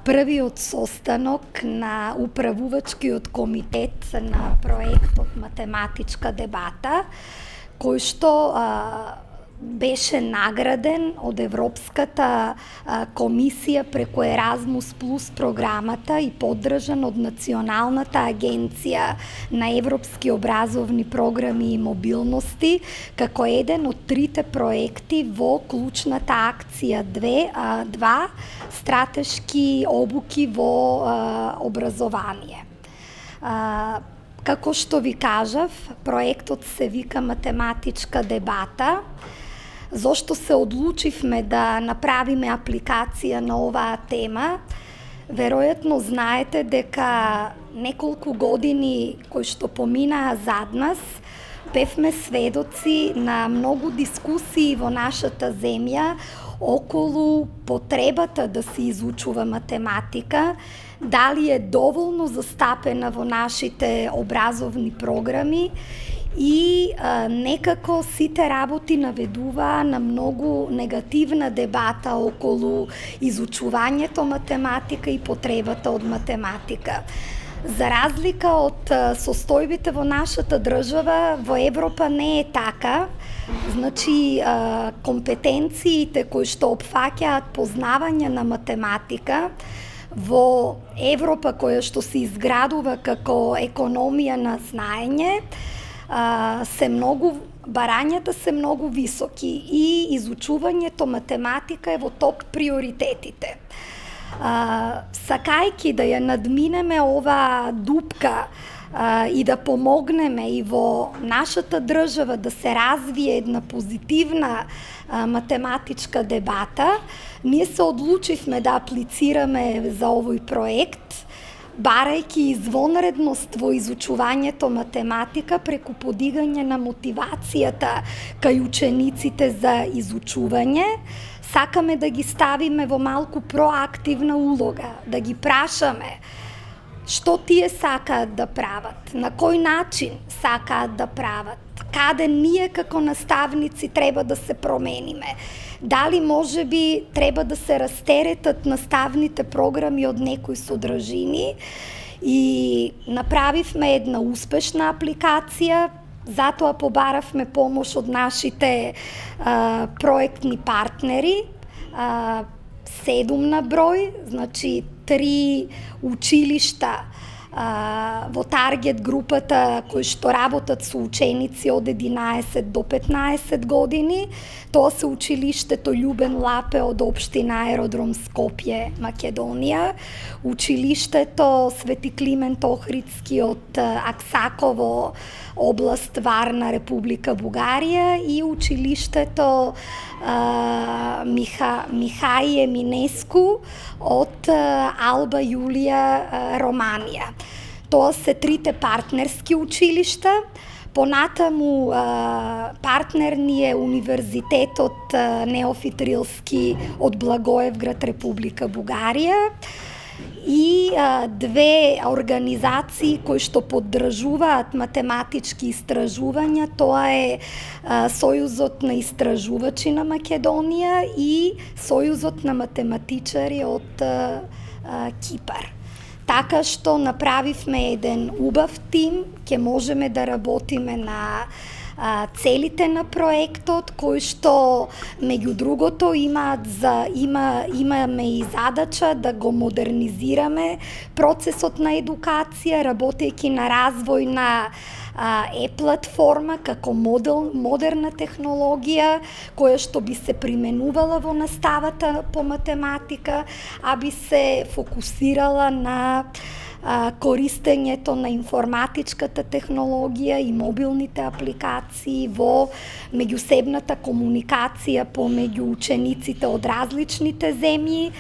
првиот состанок на управувачкиот комитет на проектот Математичка дебата, кој што беше награден од Европската комисија преку Еразмус плюс програмата и поддржан од Националната агенција на европски образовни програми и мобилности како еден од трите проекти во клучната акција 2 стратешки обуки во образование. Како што ви кажав, проектот се вика Математичка дебата. Зошто се одлучивме да направиме апликација на оваа тема? Веројатно знаете дека неколку години кои што поминаа зад нас, бевме сведоци на многу дискусии во нашата земја околу потребата да се изучува математика, дали е доволно застапена во нашите образовни програми и некако сите работи наведуваа на многу негативна дебата околу изучувањето математика и потребата од математика. За разлика од состојбите во нашата држава, во Европа не е така. Значи, компетенциите кои што опфаќаат познавање на математика во Европа, која што се изградува како економија на знаење, барањата се многу високи и изучувањето математика е во топ приоритетите. Сакајки да ја надминеме оваа дупка и да помогнеме и во нашата држава да се развие една позитивна математичка дебата, ние се одлучивме да аплицираме за овој проект, барајќи извонредност во изучувањето математика преку подигање на мотивацијата кај учениците за изучување. Сакаме да ги ставиме во малку проактивна улога, да ги прашаме што тие сакаат да прават, на кој начин сакаат да прават, каде ние како наставници треба да се промениме, дали може би треба да се растеретат наставните програми од некои содржини, и направивме една успешна апликација. Затоа побаравме помош од нашите проектни партнери, 7 на број, значи 3 училишта во таргет групата кои што работат со ученици од 11 до 15 години. Тоа се училиштето Љубен Лапе од општина Аеродром Скопје, Македонија, училиштето Свети Климент Охридски од Аксаково, област Варна, Република Бугарија, и училиштето Михаје Минеску од Алба Јулија, Романија. Тоа се трите партнерски училишта. Понатаму партнер ни е Универзитетот Неофит Рилски од Благоевград, Република Бугарија, и 2 организации кои што поддржуваат математички истражувања. Тоа е Сојузот на истражувачи на Македонија и Сојузот на математичари од Кипар. Така што направивме еден убав тим, ќе можеме да работиме на целите на проектот, кои што меѓу другото имаме и задача да го модернизираме процесот на едукација, работејќи на развој на е-платформа како модерна технологија која што би се применувала во наставата по математика, а би се фокусирала на користењето на информатичката технологија и мобилните апликации во меѓусебната комуникација помеѓу учениците од различните земји,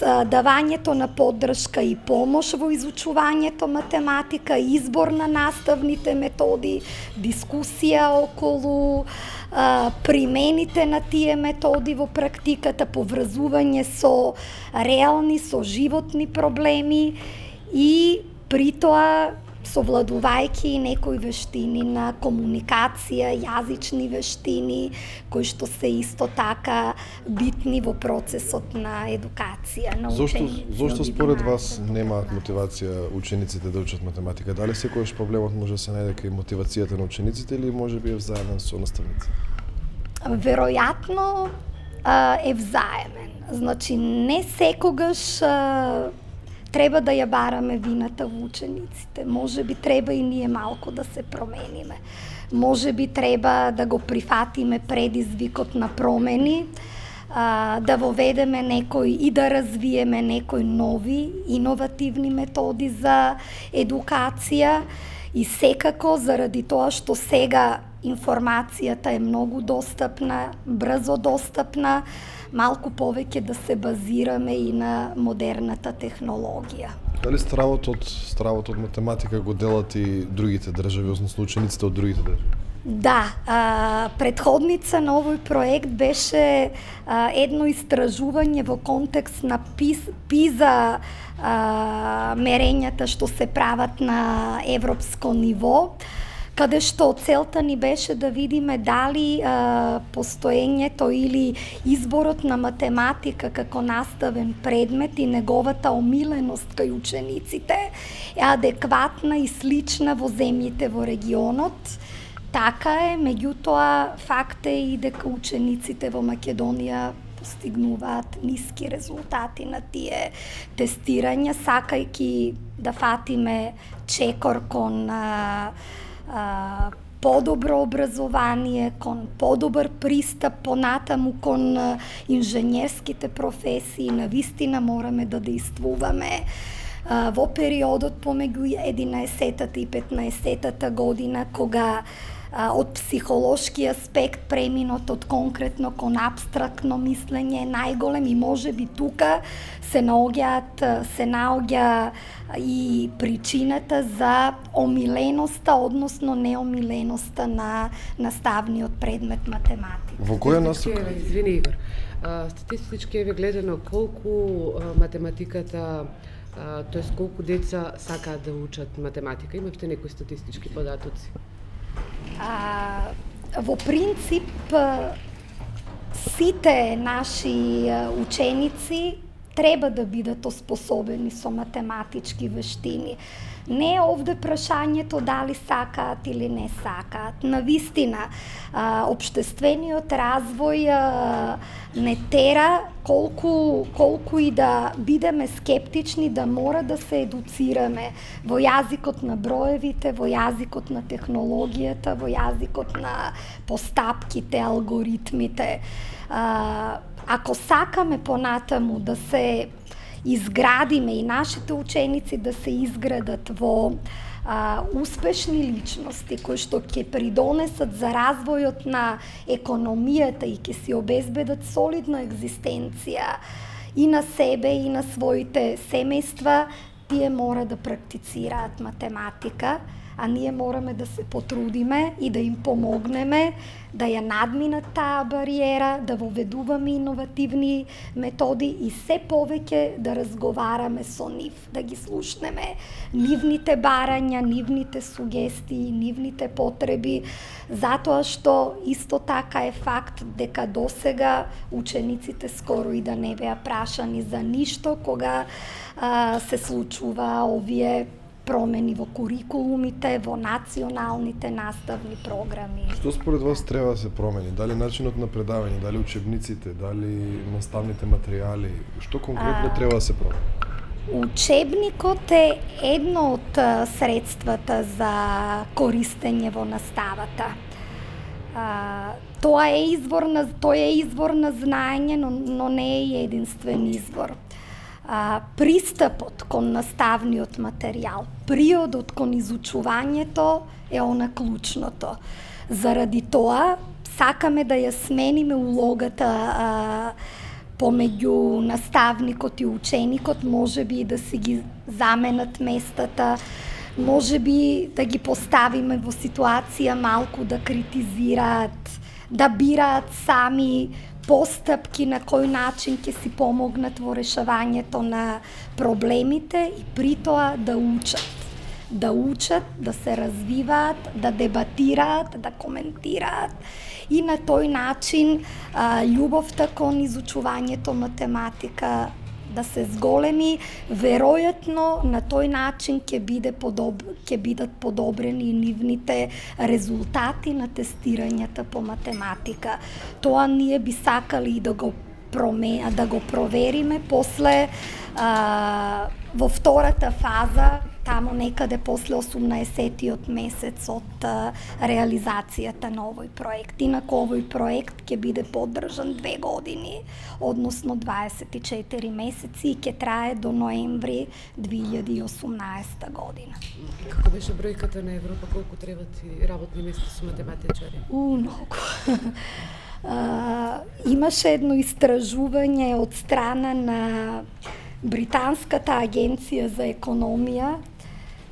давањето на поддршка и помош во изучувањето математика, избор на наставните методи, дискусија околу примените на тие методи во практиката, поврзување со реални, со животни проблеми, и при тоа совладувајќи некои вештини на комуникација, јазични вештини, кои што се исто така битни во процесот на едукација на ученици. Зошто според вас немаат мотивација учениците да учат математика? Дали секогаш проблемот може да се најде кај мотивацијата на учениците или можеби е взаемен со наставниците? Веројатно е взаемен. Значи, не секогаш треба да ја бараме вината во учениците. Може би треба и ние малку да се промениме. Може би треба да го прифатиме предизвикот на промени, да воведеме некои и да развиеме некои нови, иновативни методи за едукација и секако заради тоа што сега информацијата е многу достапна, брзо достапна, малку повеќе да се базираме и на модерната технологија. Дали стравот од математика го делат и другите држави, односно учениците од другите држави? Да, предходница на овој проект беше едно истражување во контекст на ПИЗа мерењата што се прават на европско ниво, каде што целта ни беше да видиме дали постоењето или изборот на математика како наставен предмет и неговата омиленост кај учениците е адекватна и слична во земјите во регионот. Така е, меѓутоа факт е и дека учениците во Македонија постигнуваат ниски резултати на тие тестирања, сакајќи да фатиме чекор кон подобро образование, кон подобар пристап понатаму кон инженерските професии, навистина мораме да действуваме во периодот помеѓу 11-тата и 15-тата година, кога од психолошки аспект преминот од конкретно кон апстрактно мислење е најголем и можеби тука се наоѓа и причината за омиленоста, односно неомиленоста на наставниот предмет математика. Во која насока? Извини, Игор. Статистички е гледано колку математиката, тоест колку деца сакаат да учат математика. Имавте некои статистички податоци? Во принцип, сите наши ученици треба да бидат оспособени со математички вештини. Не е овде прашањето дали сакаат или не сакаат. Навистина, општествениот развој не тера колку и да бидеме скептични, да мора да се едуцираме во јазикот на броевите, во јазикот на технологијата, во јазикот на постапките, алгоритмите. Ако сакаме понатаму да се изградиме и нашите ученици да се изградат во успешни личности кои што ќе придонесат за развојот на економијата и ќе си обезбедат солидна екзистенција и на себе и на своите семејства, тие мора да практицираат математика, а ние мораме да се потрудиме и да им помогнеме да ја надминат таа бариера, да воведуваме иновативни методи и се повеќе да разговараме со нив, да ги слушнеме нивните барања, нивните сугестии, нивните потреби, затоа што исто така е факт дека досега учениците скоро и да не беа прашани за ништо кога се случува овие промени во курикулумите, во националните наставни програми. Што според вас треба да се промени? Дали начинот на предавање, дали учебниците, дали наставните материјали? Што конкретно треба да се промени? Учебникот е едно од средствата за користење во наставата. Тоа е извор на знаење, но не е единствен извор. Пристапот кон наставниот материјал, приодот кон изучувањето е она клучното. Заради тоа, сакаме да ја смениме улогата помеѓу наставникот и ученикот, можеби да си ги заменат местата, можеби да ги поставиме во ситуација малку да критизираат, да бираат сами постапки на кој начин ќе си помогнат во решавањето на проблемите и при тоа да учат. да учат, да се развиваат, да дебатираат, да коментираат и на тој начин љубовта кон изучувањето математика да се зголеми, веројатно на тој начин ќе бидат подобрени нивните резултати на тестирањата по математика. Тоа ние би сакали да го провериме после во втората фаза, тамо некаде после 18-тиот месец од реализацијата на овој проект. Инаку овој проект ќе биде поддржан 2 години, односно 24 месеци и ќе трае до ноември 2018 година. Како беше бројката на Европа, колку треба ти работни места со математичари? Многу. Имаше едно истражување од страна на Британската агенција за економија,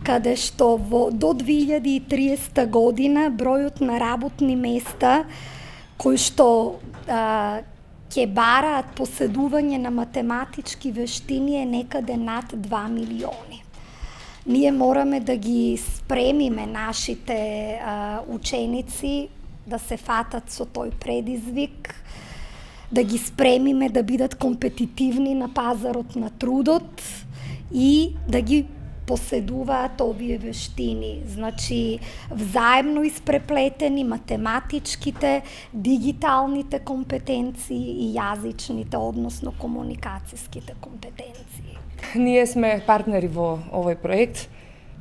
каде што до 2030 година бројот на работни места кои што ќе бараат поседување на математички вештини е некаде над 2 милиони. Ние мораме да ги спремиме нашите ученици да се фатат со тој предизвик, да ги спремиме да бидат компетитивни на пазарот на трудот и да ги поседуваат овие вештини. Значи, взаемно испреплетени математичките, дигиталните компетенции и јазичните, односно комуникацијските компетенции. Ние сме партнери во овој проект.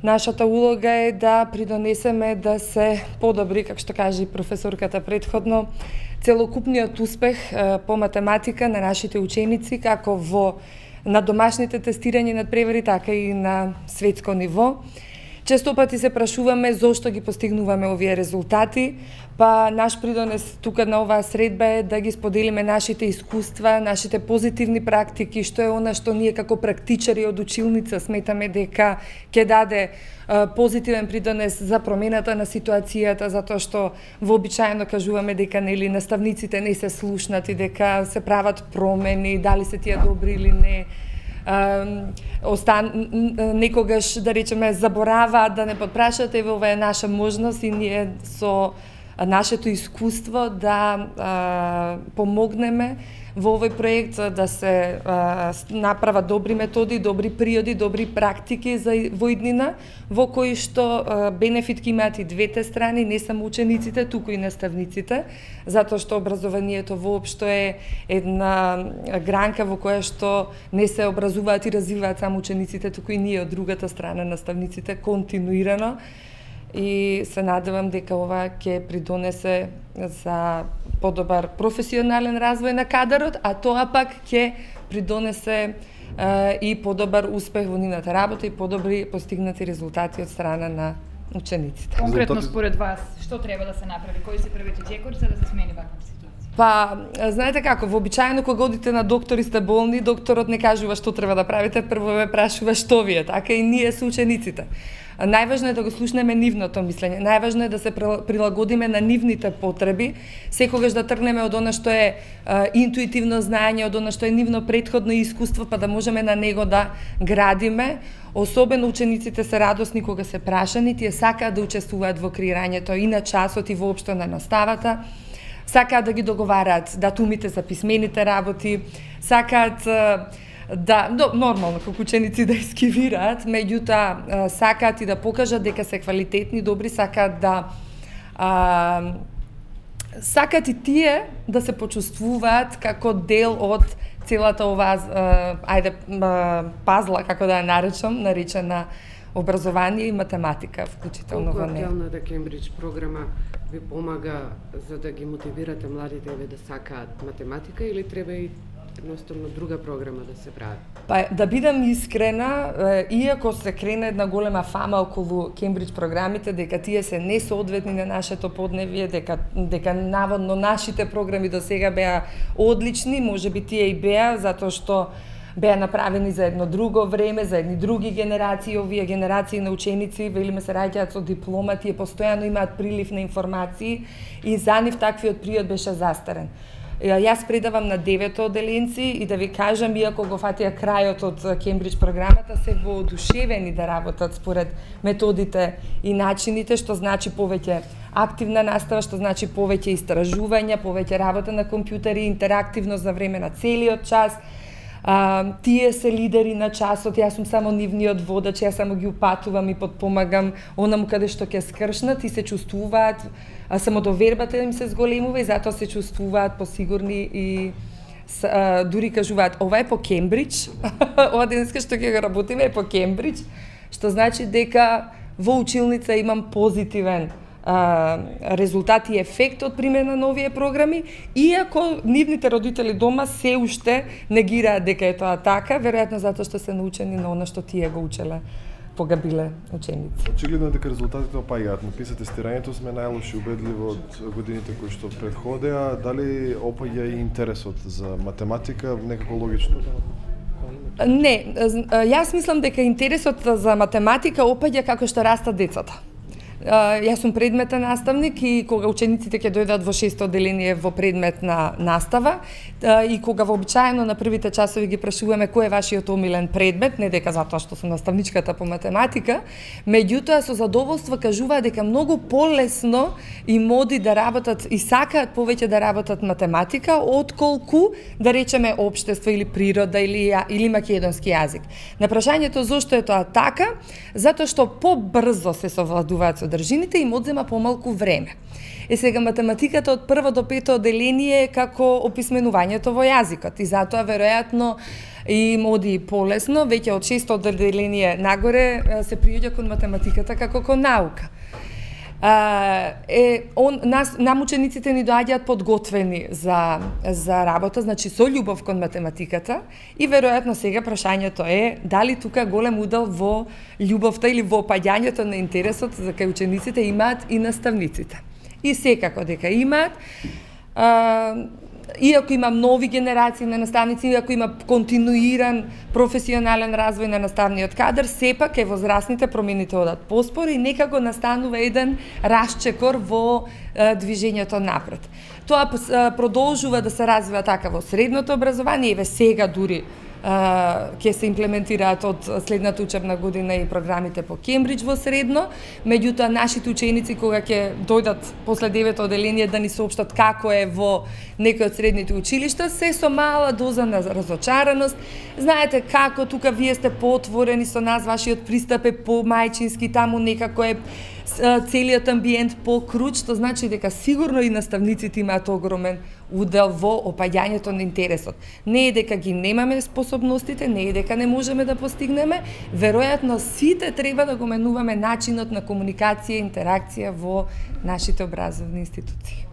Нашата улога е да придонесеме да се подобри, како што кажа и професорката предходно, целокупниот успех по математика на нашите ученици, како на домашните тестирања над превари, така и на светско ниво. Често пати се прашуваме зошто ги постигнуваме овие резултати, па наш придонес тука на оваа средба е да ги споделиме нашите искуства, нашите позитивни практики, што е она што ние како практичари од училница сметаме дека ќе даде позитивен придонес за промената на ситуацијата, затоа што вообичаено кажуваме дека нели наставниците не се слушнати, дека се прават промени, дали се тие добри или не. Некогаш, да речеме, забораваат да не подпрашат, еве ова е наша можност и ние со нашето искуство да помогнеме во овој проект да се направат добри методи, добри приоди, добри практики во иднина, во кои што бенефит ќе имаат и двете страни, не само учениците, туку и наставниците, затоа што образованието воопшто е една гранка во која што не се образуваат и развиваат само учениците, туку и ние од другата страна, наставниците, континуирано. И се надевам дека ова ќе придонесе за подобар професионален развој на кадарот, а тоа пак ќе придонесе и подобар успех во нивната работа и подобри постигнати резултати од страна на учениците. Конкретно според вас, што треба да се направи? Кои се првите џекори за да се смени ваква ситуација? Па, знаете како, вообичаено кога одите на доктор и сте болни, докторот не кажува што треба да правите, прво ве прашува што ви е, така и ние со учениците. Најважно е да го слушнеме нивното мислење, најважно е да се прилагодиме на нивните потреби, секогаш да тргнеме од она што е интуитивно знаење, од она што е нивно претходно искуство, па да можеме на него да градиме. Особено учениците се радосни кога се прашани, тие сакаат да учествуваат во креирањето и на часот и воопшто на наставата, сакаат да ги договараат датумите за писмените работи, сакаат нормално како ученици да ескивираат, меѓутоа сакаат и да покажат дека се квалитетни, добри, сакаат сакаат и тие да се почувствуваат како дел од целата оваа пазла, како да ја наречена образование и математика, вклучително во неја. Колку актуелната Кембридж програма ви помага за да ги мотивирате младите да сакаат математика или треба и едноставно друга програма да се прави? Па, да бидам искрена, иако се крена една голема фама околу Кембридж програмите, дека тие се несоодветни на нашето подневие, дека наводно нашите програми до сега беа одлични, можеби тие и беа, затоа што беа направени за едно друго време, за едни други генерации, овие генерации на ученици, велиме се раѓаат со диплома, тие постојано имаат прилив на информации и за нив таквиот приод беше застарен. Јас предавам на 9 оделенци и да ви кажам, иако го фатија крајот од Кембридж програмата, се воодушевени да работат според методите и начините, што значи повеќе активна настава, што значи повеќе истражувања, повеќе работа на компјутери, интерактивност за време на целиот час. Тие се лидери на часот, јас сум само нивниот водач, јас само ги упатувам и подпомагам онаму каде што ќе скршнат и се чувствуваат, самодовербата им се зголемува и затоа се чувствуваат посигурни и дури кажуваат, ова е по Кембридж, ова денеска што ќе го работиме е по Кембридж, што значи дека во училница имам позитивен резултат и ефект од примена на овие програми, иако нивните родители дома се уште негираат дека е тоа така, веројатно затоа што се научени на она што тие го учеле кога биле ученици. Очигледно дека резултатите опаѓаат. Написа тестирањето сме најлоши убедливо од годините кои што претходеа. Дали опаѓа и интересот за математика некако логично? Не, јас мислам дека интересот за математика опаѓа како што растат децата. Јас сум предметен наставник и кога учениците ќе дојдат во 6-то оделение во предмет на настава и кога вообичаено на првите часови ги прашуваме кој е вашиот омилен предмет, не дека затоа што сум наставничката по математика, меѓутоа со задоволство кажуваат дека многу полесно и моди да работат и сакаат повеќе да работат математика отколку да речеме општество или природа или македонски јазик. На прашањето зошто е тоа така, затоа што побрзо се совладуваат содржините и им одзема помалку време. Сега математиката од 1 до 5 оделение е како описменувањето во јазикот и затоа веројатно им оди полесно, веќе од 6 оделение нагоре се приоѓа кон математиката како кон наука. Нам учениците ни доаѓаат подготвени за работа, значи со љубов кон математиката и веројатно сега прашањето е дали тука голем удел во љубовта или во опаѓањето на интересот за кај учениците имаат и наставниците. И секако дека имаат, иако има нови генерации на наставници, иако има континуиран професионален развој на наставниот кадар, сепак е возрастните промените одат поспор и некако настанува еден расчекор во движењето напред. Тоа продолжува да се развива така во средното образование, еве сега дури ќе се имплементираат од следната учебна година и програмите по Кембридж во средно, меѓутоа нашите ученици кога ќе дојдат после 9 оделение да ни соопштат како е во некои од средните училишта, се со мала доза на разочараност. Знаете како тука вие сте поотворени со нас, вашиот пристап е помајчински, таму некако е целиот амбиент покруч, што значи дека сигурно и наставниците имаат огромен удел во опаѓањето на интересот. Не е дека ги немаме способностите, не е дека не можеме да постигнеме, веројатно сите треба да го менуваме начинот на комуникација и интеракција во нашите образовни институции.